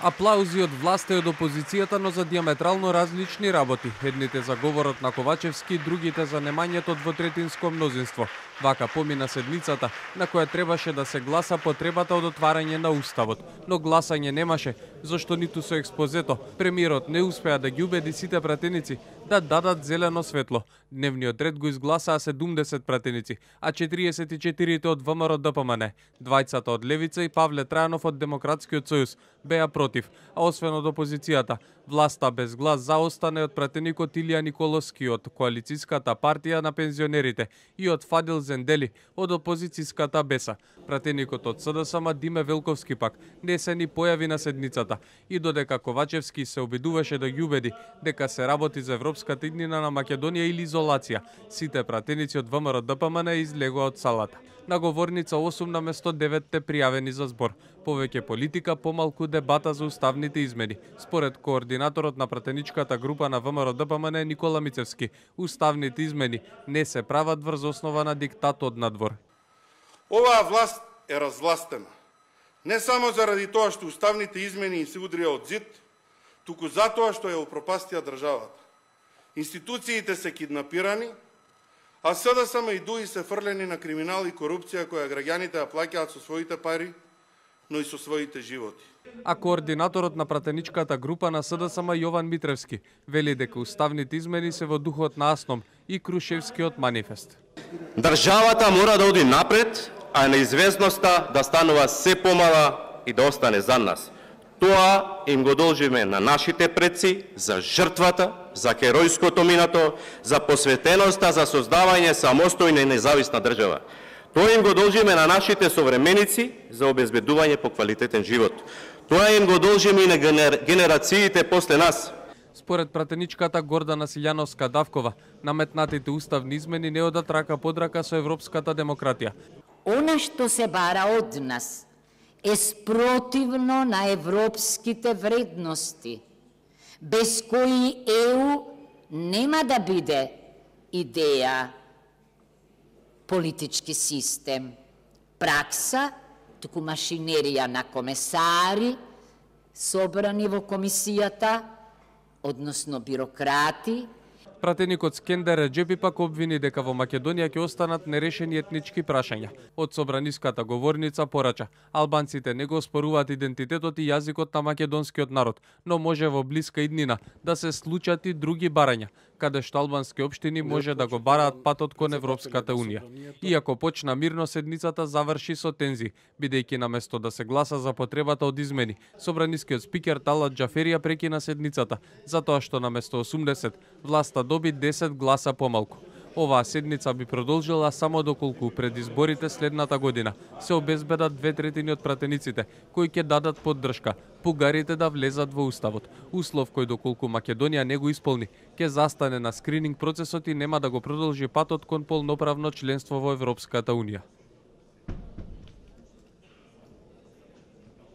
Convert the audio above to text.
Аплаузи од власта и од опозицијата, но за диаметрално различни работи. Едните за говорот на Ковачевски, другите за немањето двотретинско мнозинство. Вака помина седмицата, на која требаше да се гласа потребата од отварање на Уставот. Но гласање немаше, зашто ниту со експозето премиерот не успеа да ги убеди сите пратеници да дадат зелено светло. Дневниот ред го изгласаа 70 пратеници, а 44 од ВМРО ДПМН, двајцата од Левица и Павле Трајанов од Демократскиот сојуз беа против, а освен од опозицијата, власта без глас за остане од пратеникот Илија Николовски од Коалицијската партија на пензионерите и од Фадил Зендели од опозицијската Беса. Пратеникот од СДСМ Диме Велковски пак не се ни појави на седницата и додека Ковачевски се обидуваше да ги убеди дека се работи за европската иднина на Македонија или изолација, сите пратеници од ВМРО ДПМН излегоа од салата. На говорница 8 наместо 9 пријавени за збор. Повеќе политика, помалку дебата за уставните измени. Според координаторот на пратеничката група на ВМРО ДПМН Никола Мицевски, уставните измени не се прават врз основа на диктат од надвор. Оваа власт е развластена. Не само заради тоа што уставните измени се удрија од зид, туку затоа што ја упропастија државата. Институциите се киднапирани, а СДСМ и ДУИ се фрлени на криминал и корупција која граѓаните ја плаќаат со своите пари, но и со своите животи. А координаторот на пратеничката група на СДСМ Јован Митревски вели дека уставните измени се во духот на Асном и Крушевскиот манифест. Државата мора да оди напред, а неизвестноста да станува се помала и да остане за нас. Тоа им го должиме на нашите предци за жртвата, за херојското минато, за посветеноста за создавање самостојна и независна држава. Тоа им го должиме на нашите современици за обезбедување по квалитетен живот. Тоа им го должиме и на генерациите после нас. Според пратеничката Гордана Силјановска-Давкова, наметнатите уставни измени не одат рака под рака со европската демократија. Она што се бара од нас е спротивно на европските вредности, без кои ЕУ нема да биде идеја, политички систем, пракса, туку машинерија на комесари, собрани во комисијата, односно бюрократи. Пратеникот Скендер Реджепи пак обвини дека во Македонија ќе останат нерешени етнички прашања. Од собраниската говорница порача, албанците не го оспоруваат идентитетот и јазикот на македонскиот народ, но може во блиска иднина да се случат и други барања, каде што албански општини може да го бараат патот кон Европската унија. Иако почна мирно, седницата заврши со тензии, бидејќи наместо да се гласа за потребата од измени, собранискиот спикер Талат Џафери ја прекина седницата, затоа што наместо 80, власта доби 10 гласа помалку. Оваа седница би продолжила само доколку пред изборите следната година се обезбедат 2/3 од пратениците кои ќе дадат поддршка бугарите да влезат во Уставот. Услов кој доколку Македонија не го исполни, ќе застане на скрининг процесот и нема да го продолжи патот кон полноправно членство во Европската унија.